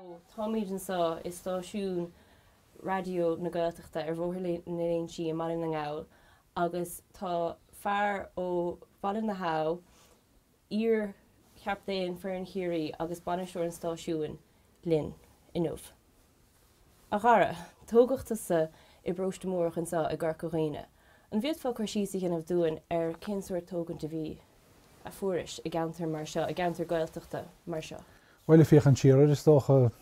Táimid anseo i stáisiún Raidió na Gaeltachta ar Bhóthar na Léinsí i mBaile na nGall agus tá fear ó Bhaile na hAbha, iar-chaptaen foireann Chiarraí agus bainisteoir an stáisiúin linn inniu. A Dhara, tógadh tusa i bParóiste Múrach anseo i gCorca Dhuibhne. An bhféadfá cur síos a dhéanamh dúinn ar cén sórt tógaint a bhí, a fuairis i gceantar mar seo, i gceantar Gaeltachta mar seo? Bhuel, ag féachaint siar air, is dócha,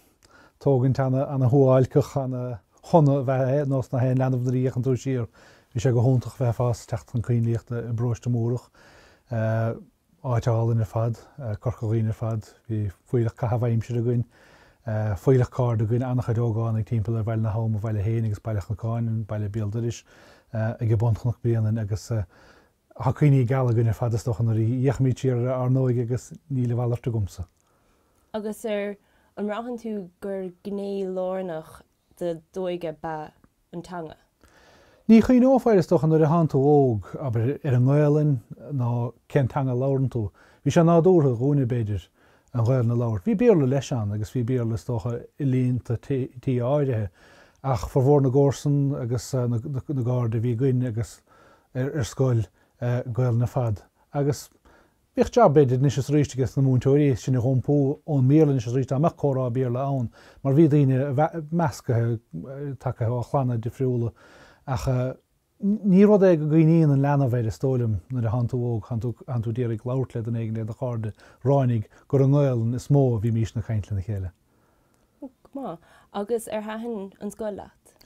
tógaint ana-shuáilceach, ana-shona ab ea é, nós na haon leanbh nuair a fhéachann tú siar. Bhí sé go hiontach bheith ag fás, teacht chun coinlíochta i bParóiste Múrach. Áit álainn ar fad, Corca Dhuibhne ar fad. Bhí fuílleach caitheamh aimsire againn, fuílleach cairde againn, an-chuid ógánaigh timpeall ar Bhaile na hAbha, mo bhaile féin, agus Baile Chnocáin, an baile béal dorais, ag Bunchnoc Bréanainn agus tá cuimhní geala againn ar fad is dócha nuair a fhéachaimid siar ar ár n-óige agus níl a mhalairt agamsa. Agus ar an mbraitheann tú gur gné lárnach de d'óige ab ea an teanga? Ní chuimhneofá air is dócha nuair atánn tú óg, abair, ar an nGaelainn nó cén teanga a labhrann tú. Bhí sé nádúrtha dhúinne, b'fhéidir, an Ghaelainn a labhairt. Bhí Béarla leis ann agus bhí Béarla is dócha i líonta tí áirithe ach formhór na gcomharsan agus na gcairde a bhí againn agus ar scoil, Gaelainn ar fad. Agus Bhíodh jab, b'fhéidir, anois is arís aige sna múinteoirí sinn a dh'iompú ón mBéarla anois is arís dá mbeadh comhrá Béarla ann, mar bhí daoine meascaithe, tagtha ó chlanna difriúla. Ach ní rud é go gcuimhníonn an leanbh air, is dóigh liom, nuair a thánn tú óg, thánn tú, thánn tú d'iarraidh labhairt le duine éigin, le do chairde, ráinig gur i nGaelainn is mó a bhímísne ag caint lena chéile. Go maith. Agus ar thaitin an scoil leat?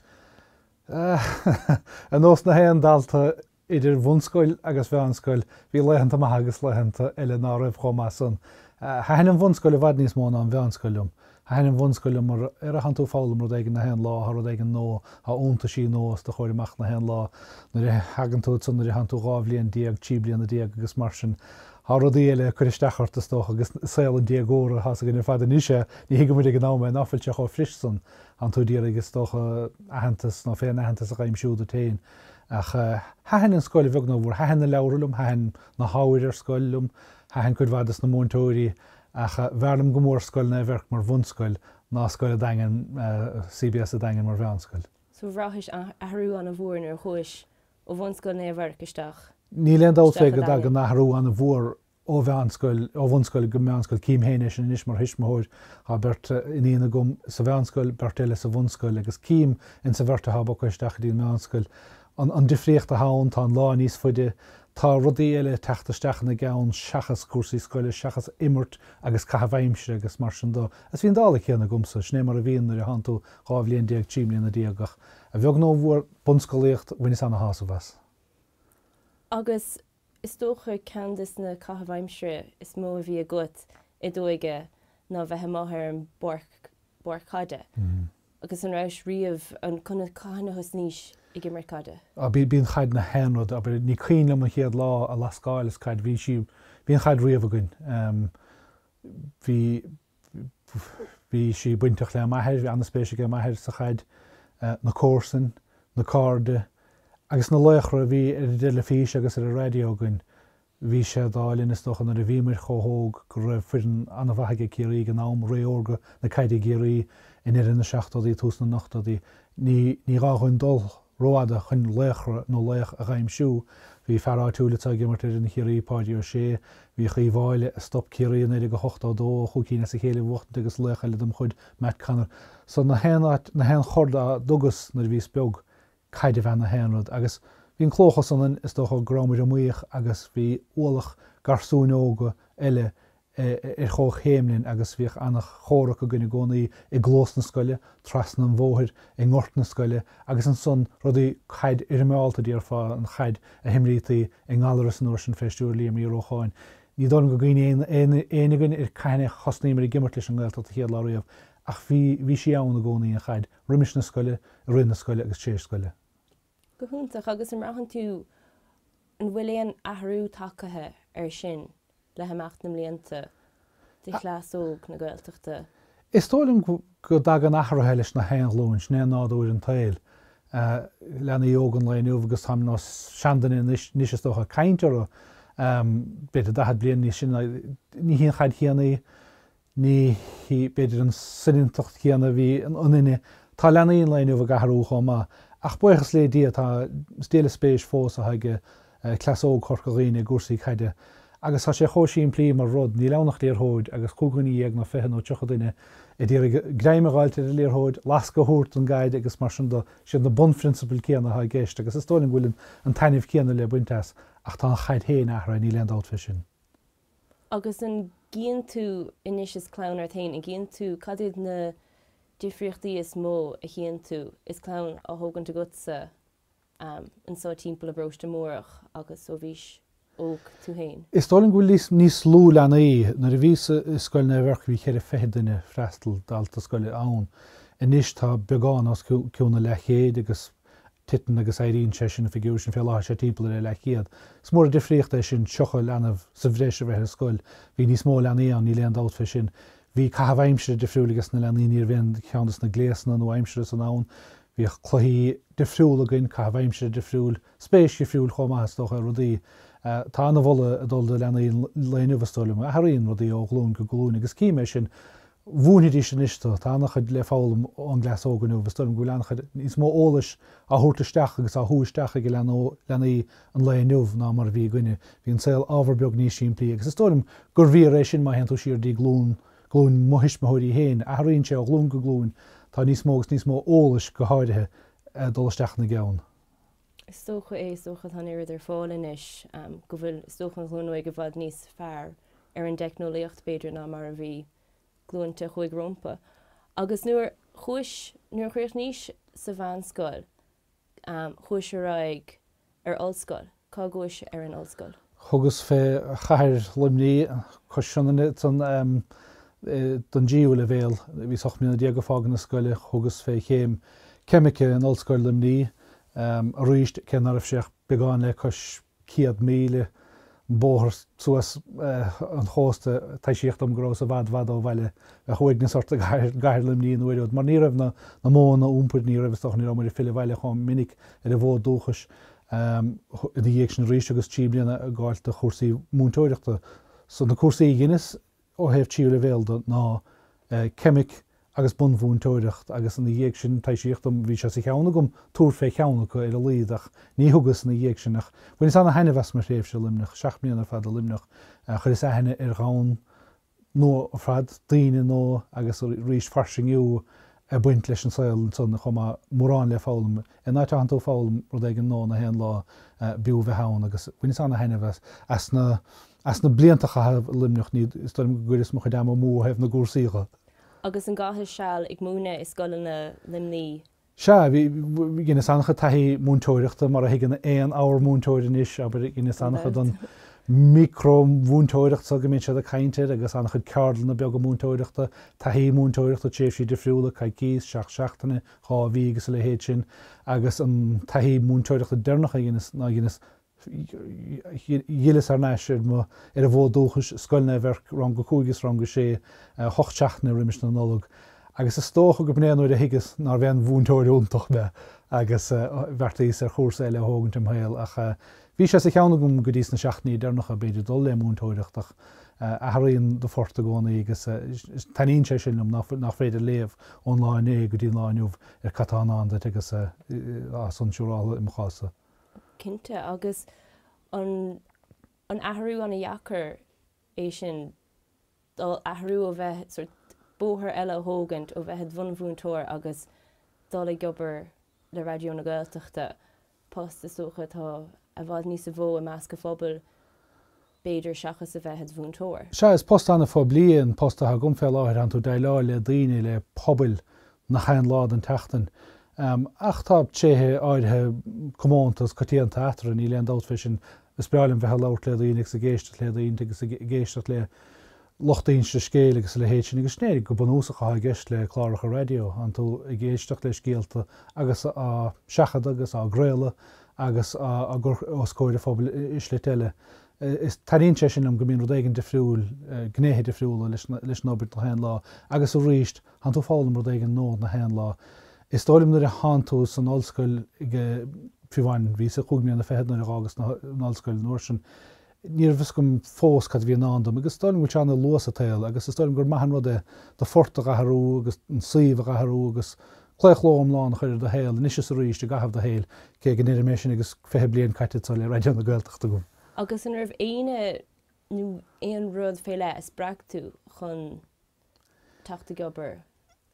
Ar nós na haon dalta Idir bhunscoil agus mheánscoil, bhí laethanta maithe agus laethanta eile ná raibh chomh maith san. Thaitin an bhunscoil i bhfad níos mó ná an mheánscoil liom. Thaitin an bhunscoil liom mar ar a thánn tú ag foghlaim rud éigin na haon lá, thá rud éigin nua, thá iontaisí nua os do chomhair amach na haon lá. Nuair a thagann tú ansan, nuair a thánn tú 12 bhliain, 13 bliana agus mar sin, thá rudaí eile ag cur isteach ort is dócha agus saol an déagóra, thá's againn ar fad anois é, ní thuigeann muid ag an am é, ná fuil sé chomh fris san. Thánn tú d'iarraidh is dócha aitheantas nó féin-aitheantas a dh'aimsiú duit féin. Ach thaitin an scoil a bheag nó a mhór. Thaitin na leabhra liom, thaitin na hábhair ar scoil liom, thaitin cuid mhaith des na múinteoirí ach b'fhearr liom go mór Scoil Naomh Eirc mar bhunscoil ná Scoil an Daingin, CBS an Daingin mar mheánscoil. So bhraithis athrú an-mhór nuair a chuais ó bhunscoil Naomh Eirc isteach Níl aon dabht fé go dtagann athrú an-mhór ó mheánscoil, ó bhunscoil go meánscoil. Cím féin é sin anois mar thuismitheoir. Tá beirt iníon agam sa mheánscoil, beirt eile sa bhunscoil agus cím ins an bheirt atá bogtha isteach go dtí an meánscoil an an difríocht atá ann, tá an lá níos faide, tá rudaí eile ag teacht isteach ina gceann seachas cúrsaí scoile, seachas imirt agus caitheamh aimsire agus mar sin dó. Agus bhí an dála céanna agamsa, sin é mar a bhíonn nuair a thánn tú 12 bhliain, 13 mbliana ach a bheag nó a mhór, bunscolaíocht, bhaineas ana-shásamh as. Agus Is dócha ceann des na caithimh aimsire is mó a bhí agat i d'óige ná bheith amuigh ar an bpáirc, bpáirc caide. Agus an rabhais riamh, an, cathain a thosnaís ag imirt caide? Á, bhí, bhí an chaid na haon rud, abair, ní cuimhin liom an chéad lá a lascáileas caid, bhí sí, bhí an chaid riamh againn. Bhí, bhí sí bainteach le m'athair, bhí an-spéis aige m'athair sa chaid, na comharsain, na cairde agus na laochra a bhí ar an dteilifís agus ar an raidió againn. Bhí sé d'ádh linn is dócha nuair a bhíomair chomh hóg go raibh foireann an-mhaith aige Ciarraí ag an am, ré órga na caide i gCiarraí i ndeireadh na seachtóidí, tús na n-ochtóidí. Ní, ní gá dhúinn dul rófhada chun laochra nó laoch a dh'aimsiú. Bhí fear áitiúil atá ag imirt ar fhoireann Chiarraí, Páidí Ó Sé. Bhíodh Uí Mháille a stop Ciarraí i 1982 ó chúig cinn as a chéile a bhuachtaint agus laoch eile dem chuid, Matt Connor. So na haon áit, na haon chor dá dtugas nuair a bhíos beag, caid ab ea na haon rud. Agus bhí an clóchas ionainn, is dócha go rabhamair iomaíoch agus bhí ualach garsúin óga eile ar chomhchéim linn agus bhíodh an-chomhrac againn i gcónaí i gclós na scoile, trasna an bhóthair, i ngort na scoile agus ansan rudaí, caid fhoirmeálta déarfá, an chaid a himrítaí i nGallaras an uair sin fé stiúir Liam Uí Rócháin. Ní dóigh liom go gcuimhníonn éinne againn ar cathain a thosnaíomar ag imirt leis an nGaeltacht an chéad lá riamh ach bhí, bhí sí ann i gcónaí, an chaid, roimis na scoile, i rith na scoile agus tar éis scoile. Go hiontach. Agus an mbraitheann tú, an bhfuil aon athrú tagtha air sin le himeacht na mblianta de chleas óg na Gaeltachta? Is dóigh liom go dtagann athruithe leis na haon ghlúin, sin é nádúr an tsaoil. Leanaí óga an lae inniu agus táim ar nós seanduine anois is dócha ag caint orthu, b'fhéidir 40 bliain níos sine, ní hí an chaid chéanna í. Ní hí, b'fhéidir, an soineantacht chéanna a bhí ionainne. Tá leanaí an lae inniu ag athrú chomh maith. Ach buíochas le Dia, tá, is díol spéise fós atá ag cleas óg Chorca Dhuibhne i gcúrsaí caide. Agus tá sé chomh simplí mar rud, níl ann ach liathróid agus chúig dhuine dhéag nó 20 nó 30 duine ag iarraidh greim a dh'fháilt ar an liathróid, lascadh a thabhairt don gcaid agus mar sin de. Siad na bunphrionsabail céanna atá i gceist agus is dóigh liom go bhfuil an taitneamh céanna le baint as ach tá an chaid féin athraithe, níl aon dabht fé sin. Agus an gcíonn tú anois is clann ort féin, an gcíonn tú, cad iad na difríochtaí is mó a chíonn tú is clann á thógaint agatsa anseo timpeall i bParóiste Mórdhach agus ó bhís óg tú féin? Is dóigh liom go bhfuil níos lú leanaí. Nuair a bhíos i Scoil Naomh Eirc bhí cheithre fichid duine freastal, dalta scoile, ann. Anois tá beagán os cionn an leathchéid agus Titeann agus éiríonn sé sin, an figiúr sin, fé láthair sé timpeall ar a leathchéad. Is mór an difríocht é sin, 30 leanbh sa bhreis a bheith ar scoil. Bhí níos mó leanaí ann, níl aon dabht fé sin. Bhí caitheamh aimsire difriúil ages na leanaí, ní raibh aon cheann des na gléasanna nua-aimseartha san ann. Bhíodh cluichí difriúla againn, caitheamh aimsire difriúil, spéis dhifriúil chomh maith is dócha i rudaí. Tá ana-mholadh ag dul do leanaí an lae inniu is dóigh liom. Athraíonn rudaí ó ghlúin go glúin agus cím é sin. Mhúinfidís anois tú. Tá an-chuid le foghlaim ón gcleas óg inniu. Is dóigh liom go bhfuil an-chuid níos mó eolais á thabhairt isteach agus á shú isteach ag leanaí an lae inniu ná mar a bhí againne. Bhí an saol ábhar beag níos simplí agus is dóigh liom gur bhfíor é sin má théann tú siar dtí glúin, glúin mo thuismitheoirí féin. Athraíonn sé ó ghlúin go glúin. Tá níos mó agus níos mó eolais, go háirithe, ag dul isteach ina gceann. Is dócha é, is dócha tá an oiread ar fáil anois go bhfuil, is dócha an ghlúin óig i bhfad níos fearr ar an dteicneolaíocht b'fhéidir ná mar a bhí glúinte a chuaigh rompu. Agus nuair chuais, nuair a chríochnaís sa mheánscoil, chuais ar aghaidh ar ollscoil. Cá gcuais ar an ollscoil? Thugas fé chathair Luimnigh, cois Sionainne, ansan don dtríú leibhéal. Bhíos 18 mbliana ag fágaint na scoile, thugas fé chéim ceimice in Ollscoil Luimnigh arís, cé ná raibh sé ach beagán le cois 100 míle bóthar suas an chósta, taibhsíodh dom go rabhas i bhfad bhfad ó bhaile. Bheadh uaigneas ort i gcathair Luimnigh an uair úd, mar ní raibh na modhanna iompair, ní raibh, is dócha, ní rabhamair ag filleadh abhaile chomh minic ar an bhfód dúchais. Ina dhiaidh sin arís thugas 3 bliana ag gabháil do chúrsaí múinteoireachta. So na cúrsaí a dheineas ó thaobh tríú leibhéal de ná ceimic agus bunmhúinteoireacht agus ina dhiaidh sin taibhsíodh dom, bhí sé sa cheann agam tabhairt fé cheann acu ar a laghad ach ní thugas ina dhiaidh sin ach bhaineas ana-thaitneamh as mo thréimhse i Luimneach, 7 mbliana ar fad i Luimneach. Chuireas aithne ar dhomhan nua ar fad, daoine nua agus arís fairsingiú ag baint leis an saol ansan chomh maith, mórán le foghlaim. In áit a thánn tú ag foghlaim rud éigin nua na haon lá b'fhiú bheith ann agus bhaineas ana-thaitneamh as, as na, as na blianta a chaitheamh i Luimneach, ní, is dóigh liom go gcuireas mo chuid ama amú ó thaobh na gcúrsaí dho. Agus an gcaithis seal ag múineadh i scoileanna Luimnigh? Sea, bhí, dheineas an-chuid taithí múinteoireachta, mar a thuigeann aon ábhar múinteoir anois, abair, dheineas an-chuid den mhicreamhúinteoireacht so go mbíonn siad ag caint air agus an-chuid ceardlanna beaga múinteoireachta, taithí múinteoireachta, tréimhsí difriúla, coicís, 7 seachtaine, 2 mhí agus a leithéid sin, agus an taithí múinteoireachta deireanach a dheineas ná dheineas Dh'fhilleas thar n-ais ar mo, ar an bhfód dúchais, Scoil Naomh Eirc, rang a 5 is rang a 6, 8 seachtaine roimis na Nollag. Agus is dócha go b'in é nuair a thuigeas nárbh aon mhúinteoir iontach mé agus bheartaíos ar chúrsa eile a thógaint im shaol. Ach bhí sé sa cheann agam go dtí sna seachtainí deireanacha, b'fhéidir, dul le múinteoireacht ach athraíonn do phort i gcónaí agus taitníonn sé sin liom, nach féidir léamh ón lá inné go dtí an lá inniu ar cad tá i ndán duit agus tá san siúráilte i mo chás-sa. Cinnte, agus an an athrú ana-dheacair é sin, dul athrú ó bheith sort bóthar eile a thógaint ó bheith id bhunmhúinteoir agus dul ag obair le Raidió na Gaeltachta, post is dócha atá i bhfad níosa mhó i measc an phobail b'fhéidir seachas a bheith id mhúinteoir. Sea, is post an-phoiblí é an post atá agam fé láthair, tánn tú ag déileáil le daoine, le pobail, nach aon lá den tseachtain. Ach tá tréithe áirithe comónta agus coitianta eatarthu, níl aon dabht fé sin. Is breá liom bheith ag labhairt le daoine agus ag éisteacht le daoine agus ag éisteacht le lucht inste scéil agus a leithéid sin agus sin é go bunúsach atá i gceist le cláracha raidió, tánn tú ag éisteacht le scéalta agus á seachadadh agus á gcraoladh agus á gcur os comhair an phobail i slite eile. Is taitníonn sé sin liom go mbíonn rud éigin difriúil, gnéithe difriúla leis an obair na haon lá agus arís tánn tú ag foghlaim rud éigin nua na haon lá. Is dóigh liom nuair a thánn tú san ollscoil ag, fiú amháin, bhíos-sa cúig mbliana fichead nuair a dh'fhágas an ollscoil an uair sin. Ní raibh fhios agam fós cad a bhí i ndán dom agus is dóigh liom go bhfuil sé an-luath sa tsaol agus is dóigh liom gur maith an rud é do phort a dh'athrú agus an suíomh a dh'athrú agus claochló iomlán a chur ar do shaol anois is arís i gcaitheamh do shaoil, cé go ndeirim é sin agus 20 bliain caite anseo le Raidió na Gaeltachta agam. Agus an raibh éinne nó aon rud fé leith a spreag tú chun teacht ag obair,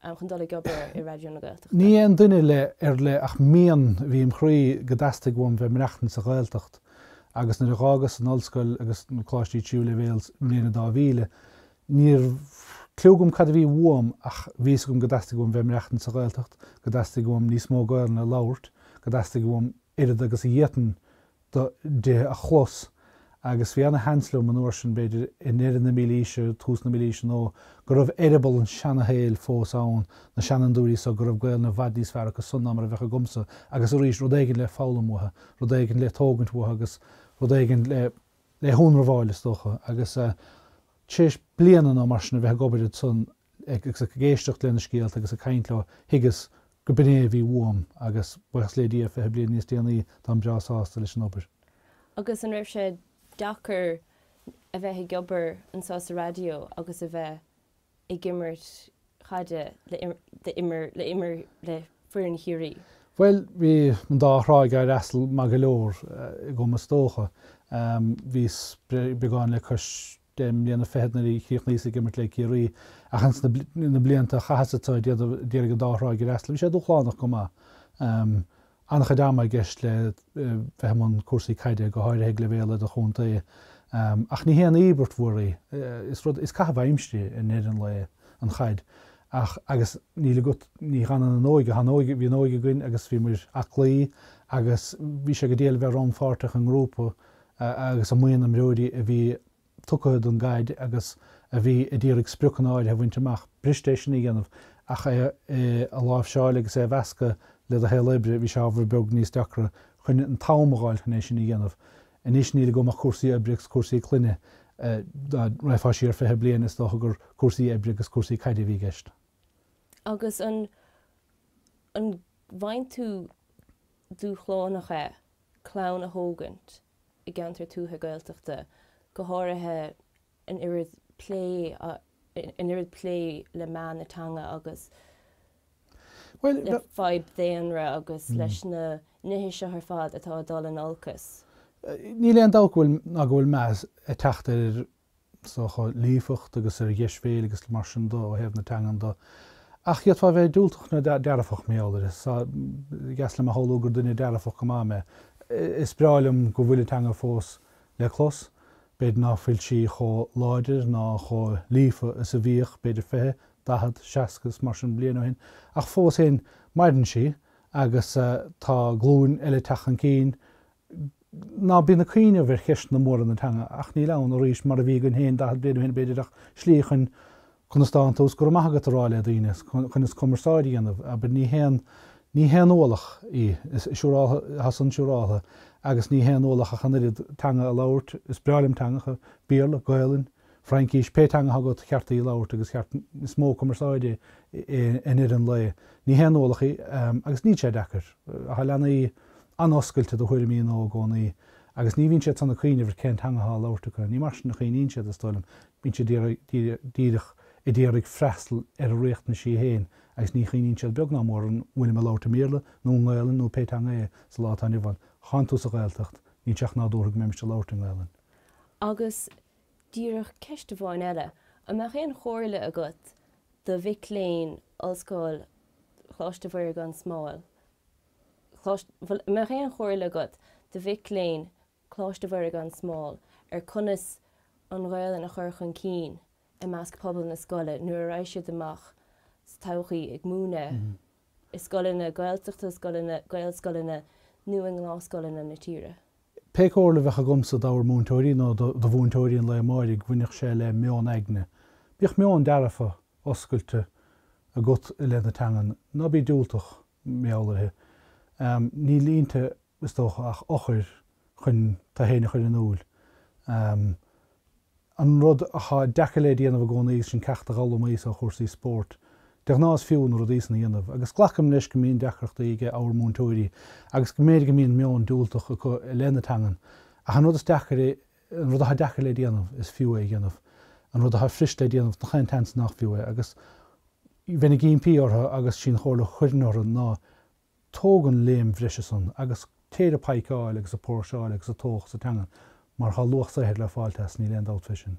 chun dul ag obair i Raidió na Gaeltachta? Ní aon duine le ar leith ach mian a bhí im chroí go dteastaigh uaim bheith maireachtaint sa Ghaeltacht agus nuair a dh'fhágas an ollscoil agus na coláistí tríú leibhéal i mbliain a 2000, ní raibh cliú agam cad a bhí uaim ach bhí fhios agam go dteastaigh uaim bheith maireachtaint sa Ghaeltacht, go dteastaigh uaim níos mó Gaelainne a labhairt, go dteastaigh uaim oiread agus a d'fhéadfainn di a chlos agus bhí ana-sheans liom an uair sin, b'fhéidir i ndeireadh na mílaoise, tús na mílaoise nó go raibh eireaball an seana-shaoil fós ann, na seanfhondúirí so, go raibh Gaelainn i bhfad níos fearr acu san ná mar a bheadh agamsa agus arís rud éigin le foghlaim uathu, rud éigin le tógaint uathu agus rud éigin le le hionramháil is dócha agus tar éis bliana nó mar sin a bheith ag obair ansan agus ag éisteacht lena scéalta agus ag caint leo, thuigeas go b'in é a bhí uaim agus, buíochas le Dia, 20 bliain níos déanaí, táim breá sásta leis an obair. Agus an raibh sé deacair a bheith ag obair anseo sa raidió agus a bheith ag imirt chaide le le le foireann Chiarraí? Bhuel, bhí an dá thráigh á fhreastal maith go leor agam is dócha. Bhíos beagán le cois 10 mbliana fichead nuair a chríochnaíos ag imirt le Ciarraí ach ins na blianta a chaitheas anseo ag iarraidh an dá thráigh a fhreastal bhí sé dúshlánach go maith. An-chuid ama i gceist le bheith i mbun cúrsaí caide, go háirithe ag leibhéal idirchontae. Ach ní haon íobairt mhór í. Is rud, is caitheamh aimsire i ndeireadh an lae an chaid. Ach, agus níl agat, ní fhanann an óige, tá an óige, bhí an óige againn agus bhí muid aclaí agus bhí sé go diail a bheith rannpháirteach i ngrúpa agus i mbuíon imreoirí a bhí tugtha don gcaid agus a bhí a d'iarraidh spriocanna áirithe a bhaint amach. B'fhuirist é sin a dhéanamh ach é a láimhseáil agus é a mheascadh le do shaol oibre, bhí sé ábhar beag níos deacra chun an t-am a dh'fháil chun é sin a dhéanamh. Anois níl agam ach cúrsaí oibre agus cúrsaí clainne. Dá raghfá siar 20 bliain is dócha gur cúrsaí oibre agus cúrsaí caide a bhí i gceist. Agus an an bhfaigheann tú dúshlánach é clann a thógaint i gceantar tuaithe Gaeltachta, go háirithe an oiread plé an oiread plé le meath na teanga agus le fadhb daonra agus leis na nithe seo ar fad atá ag dul in olcas. Níl aon dabht go bhfuil ná go bhfuil meath ag teacht ar is dócha, líofacht agus ar dheisbhéil agus mar sin de ó thaobh na teangan de. Ach d'fhéadfá a bheith diúltach nó dearfach mar gheall air. Is deas liom a shamhlú gur duine dearfach go maith mé. Is breá liom go bhfuil an teanga fós le clos. B'fhéidir ná fuil sí chomh láidir ná chomh líofa is a bhíodh, b'fhéidir 20, 40, 60 is mar sin bliain ó shin, ach fós féin maireann sí agus tá glúin eile ag teacht chun cinn ná bíonn ag cuimhneamh ar cheisteanna móra na teanga, ach níl ann, arís, mar a bhí againn féin 40 bliain ó shin, b'fhéidir, ach slí chun conas tánn tú is go raibh maith agat a rá le daoine, chun is cumarsáid a dhéanamh, abair, ní haon, ní haon ualach í, is siúráltha, tá san siúráltha, agus ní haon ualach ach an oiread teanga a labhairt, is breá liom teangacha, Béarla, Gaolainn, Fraincís, pé teanga atá agat, cheart í a labhairt agus cheart, is modh cumarsáide é i ndeireadh an lae. Ní haon ualach í agus níl sé deacair. Tá leanaí an-oscailte do thuairimí nua i gcónaí agus ní bhíonn siad san ag cuimhneamh ar cén teanga atá á labhairt acu. Ní mar sin a chuimhníonn siad, is dóigh liom. Bíonn siad díreach ag iarraidh freastal ar a riachtanaisí féin agus ní chuimhníonn siad beag ná mór an bhfuilim ag labhairt i mBéarla nó i nGaelainn nó pé teanga é sa lá atá inniu ann. Tánn tú sa Ghaeltacht, níl sé ach nádúrtha go mbeimis ag labhairt i nGaelainn. Agus Díreach ceist amháin eile, an mbeadh aon chomhairle agat do mhic léinn Ollscoil Choláiste Mhuire gan Smál, an mbeadh aon chomhairle agat do mhic léinn Choláiste Mhuire gan Smál ar conas an Ghaelainn a chur chun cinn i measc pobal na scoile nuair a raghaidh siad amach sa todhchaí ag múineadh i scoileanna Gaeltachta, scoileanna, Gaelscoileanna nó i ngnáthscoileanna na tíre? Pé comhairle a bheadh agamsa d'ábhar múinteoirí nó do mhúinteoirí an lae amáirigh, bhainfeadh sé le meon aigne. Bíodh meon dearfa, oscailte agat i leith na teangan. Ná bí diúltach, mar gheall uirthi. Níl inti, is dócha, ach eochair chun tú féin a chur in iúl. An rud athá deacair le déanamh i gcónaí agus sin ceacht a d'fhoghlaimíos ó chúrsaí spóirt. De ghnáth is fiú na rudaí san a dhéanamh agus glacaim leis go mbíonn deacrachtaí ag ábhar múinteoirí agus go mb'fhéidir go mbíonn meon diúltach acu i leith na teangan ach an rud is deacair. An rud atá deacair le déanamh, is fiú é a dhéanamh. An rud atá fuirist le déanamh, nach aon tseans nach fiú é. Agus bheinn ag impí orthu agus sí an chomhairle a chuirfinn orthu ná tóg an léim bhreise san agus téir ag paidhceáil agus ag póirseáil agus ag tóch sa teangain mar tá luach saothair le fáilt as, níl aon dabht fé sin.